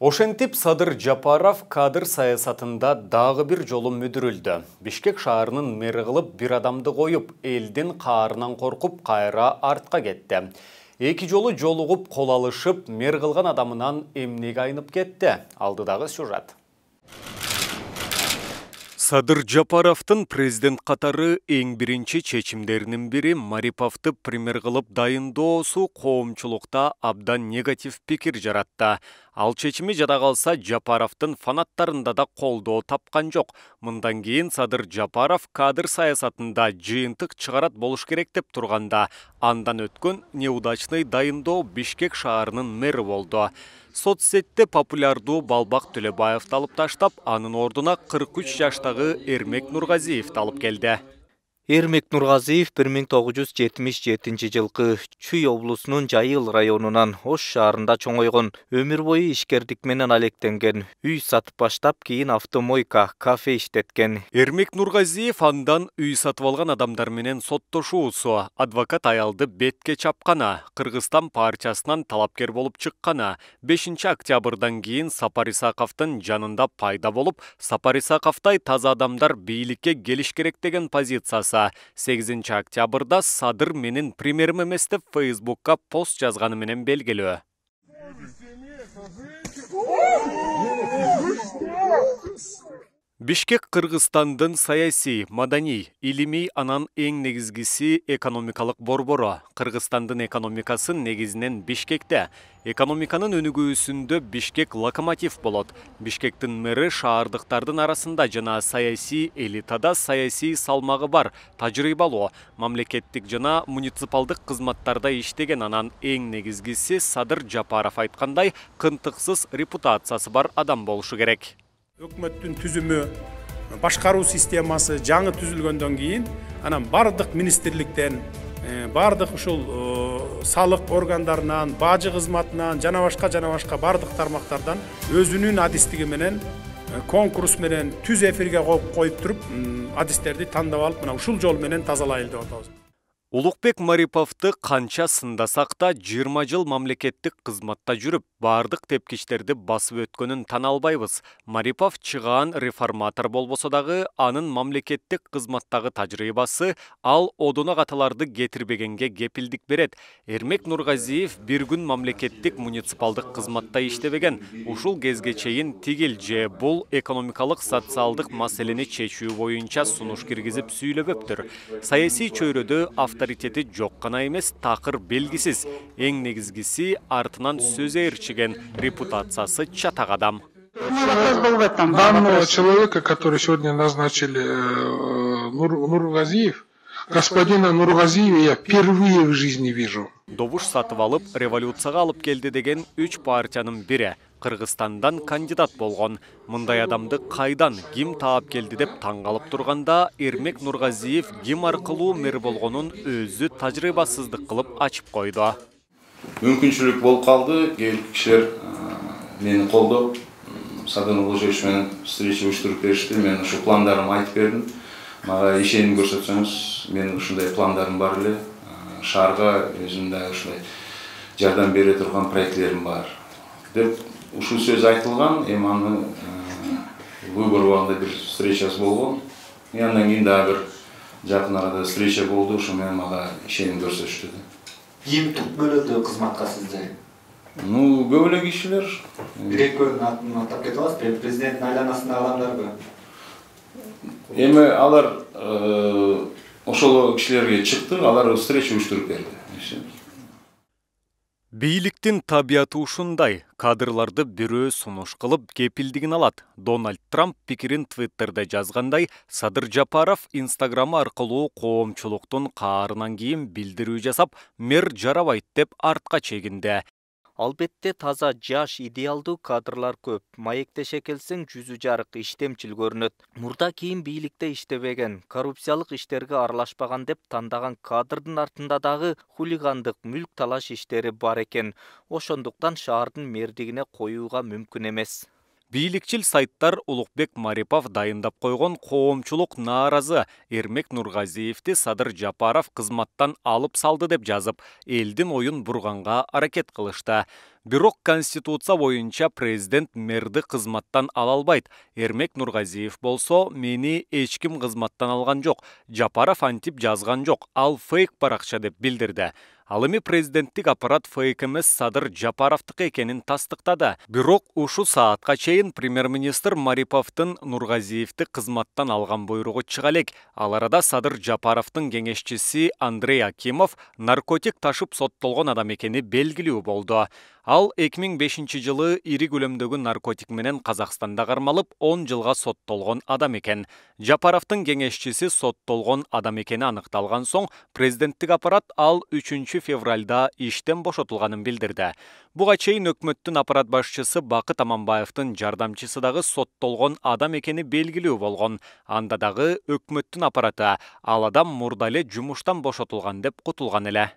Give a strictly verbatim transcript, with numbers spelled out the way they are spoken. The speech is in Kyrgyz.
Ошентип Садыр Жапаров кадр саясатында дагы бир жолу мүдүрүлдү. Бишкек шаарынын мэри кылып бир адамды коюп, элдин каарынан коркуп кайра артка кетти. Эки жолу жолугуп кол алышып, мэр кылган адамынан эмнеге айнып кетти? Алдыдагы сюжет. Садыр Жапаровдун президент катары эң биринчи чечимдеринин бири Мариповду премьер кылып дайындоосу коомчулукта абдан негатив пикир жаратты. Ал чечими жада калса Жапаровдун фанаттарында да колдоо тапкан жок. Мындан кийин Садыр Жапаров кадр саясатында жыйынтык чыгарат болуш керек деп турганда, андан өткөн неудачный дайындоо Бишкек шаарынын мэри болду. Соцсетте популярдуу Балбак Төлөбаевди алып таштап, анын ордуна кырк үч жаштагы Эрмек Нургазиевди алып келди. Эрмек Нургазиев бир миң тогуз жүз жетимиш жетинчи жылкы Чүй облусунун Жайыл районунан Ош шаарында чоңойгон. Өмүр бою ишкердик менен алектенген. Үй сатып баштап, кийин автомойка, кафе иштеткен. Эрмек Нургазиев андан үй сатып алган адамдар менен соттошуусу, адвокат аялды бетке чапканы, Кыргызстан партиясынан талапкер болуп чыкканы, бешинчи октябрдан кийин Сапар Исаковдун жанында пайда болуп, Сапар Исаковдай таза адамдар бийликке келиш керек деген позициясы сегизинчи октябрда Садыр менин премьерим эмес деп Фейсбукка пост жазганы менен белгилүү. Бишкек Кыргызстандын саясий, маданий, илимий анан эң негизгиси экономикалык борбору. Кыргызстандын экономикасын негизинен Бишкекте. Экономиканын өнүгүүсүндө Бишкек локомотив болот. Бишкектин мэри шаардыктардын арасында жана саясий элитада саясий салмагы бар, тажрыйбалуу, мамлекеттик жана муниципалдык кызматтарда иштеген, анан эң негизгиси Садыр Жапаров айткандай, кынтыксыз репутациясы бар адам болушу керек. Өкмөттүн түзүмү, башкаруу системасы жаңы түзүлгөндөн кийин, анан бардык министрликтен, бардык ушул салык органдарынан, бажы кызматынан, жана башка жана башка бардык тармактардан өзүнүн адистиги менен, конкурс менен түз эфирге коюп туруп, адистерди тандап алып, мына ушул жол менен тазалайлы деп атабыз. Улукбек Мариповду канча сындасак да жыйырма жыл мамлекеттик кызматта жүрүп, бардык тепкичтерди басып өткөнүн тана албайбыз. Марипов чыгаан реформатор болбосо дагы, анын мамлекеттик кызматтагы тажрыйбасы ал одуна каталарды кетирбегенге кепилдик берет. Эрмек Нургазиев бир күн мамлекеттик муниципалдык кызматта иштебеген. Ушул кезге чейин тигил же бул экономикалык социалдык маселени чечүү боюнча сунуш киргизип сүйлөбөптүр. Саясий чөйрөдө авторитети жок гана эмес, такыр белгисиз. Эң негизгиси артынан сөз ээрчиген, репутациясы чатак адам. Данного человека, который сегодня назначили Нур, Нургазиев, господина Нургазиева я впервые в жизни вижу. Добуш сатып алып, революцияга алып келди деген үч партиянын бири. Кыргызстандан кандидат болгон. Мындай адамды кайдан, ким таап келди деп таң калып турганда, Эрмек Нургазиев ким аркылуу мэр болгонун өзү тажрыйбасыздык кылып ачып койду. Мүмкүнчүлүк болуп калды, кишилер мени колдоп, Садыр Нургазиевич менен встреча уюштуруп беришти. Мен ушу пландарымды айтып бердим. Мага ишеним көрсөтсөңүз, менин ушундай пландарым бар эле. Шаарга өзүмдө ушундай жардам бере турган проектлерим бар деп ушул сөз айтылган. Эми аны выбор убагында бир встречасы болгон. И андан кийин дагы бир жакын арада встреча болду. Ошо менен мага ишеним көрсөтүштү. Ким туп бөлөдү кызматка сизди? Ну, көп эле кишилер. Бир-экөөнүн атын атап кете аласызбы? Президенттин айланасындагы адамдарбы? Эми алар ошол кишилерге чыкты, алар встреча уюштуруп берди. Бийликтин табияты ушундай. Кадрларды бирөө сунуш кылып кепилдигин алат. Дональд Трамп пикирин Твиттерде жазгандай, Садыр Жапаров Инстаграм аркылуу коомчулуктун каарынан кийин билдирүү жасап, мэр жарабайт деп артка чегинди. Албетте таза жаш идеалдуу кадрлар көп. Маектеше келсең жүзү жарык, иштемчил көрүнөт. Мурда кийин бийликте иштебеген, коррупциялык иштерге аралашпаган деп тандаган кадрдын артында дагы хулигандык, мүлк талаш иштери бар экен. Ошондуктан шаардын мэрдигине коюуга мүмкүн эмес. Бийликчил сайттар Улукбек Марипов дайындап койгон коомчулук нааразы Эрмек Нургазиевди Садыр Жапаров кызматтан алып салды деп жазып, элдин оюн бурганга аракет кылышты. Бирок Конституция боюнча президент мэрди кызматтан ала албайт. Эрмек Нургазиев болсо, мени эч ким кызматтан алган жок. Жапаров антип жазган жок. Ал фейк баракча деп билдирди. Ал эми президенттик аппарат фейк эмес Садыр Жапаровдук экенин тастыктады. Бирок ушу саатка чейин премьер-министр Мариповдун Нургазиевди кызматтан алган буйругу чыга элек. Ал арада Садыр Жапаровдун кеңешчиси Андрей Акимов наркотик ташып соттолгон адам экени белгилүү болду. Ал эки миң бешинчи жылы ири көлөмдөгү наркотик менен Казакстанда кармалып, он жылга соттолгон адам экен. Жапаровдун кеңешчиси соттолгон адам экени аныкталган соң, президенттик аппарат ал үчүнчү февралда иштен бошотулганын билдирди. Буга чейин өкмөттүн аппарат башчысы Бакыт Аманбаевдин жардамчысы дагы соттолгон адам экени белгилүү болгон. Анда дагы өкмөттүн аппараты ал адам мурда эле жумуштан бошотулган деп кутулган эле.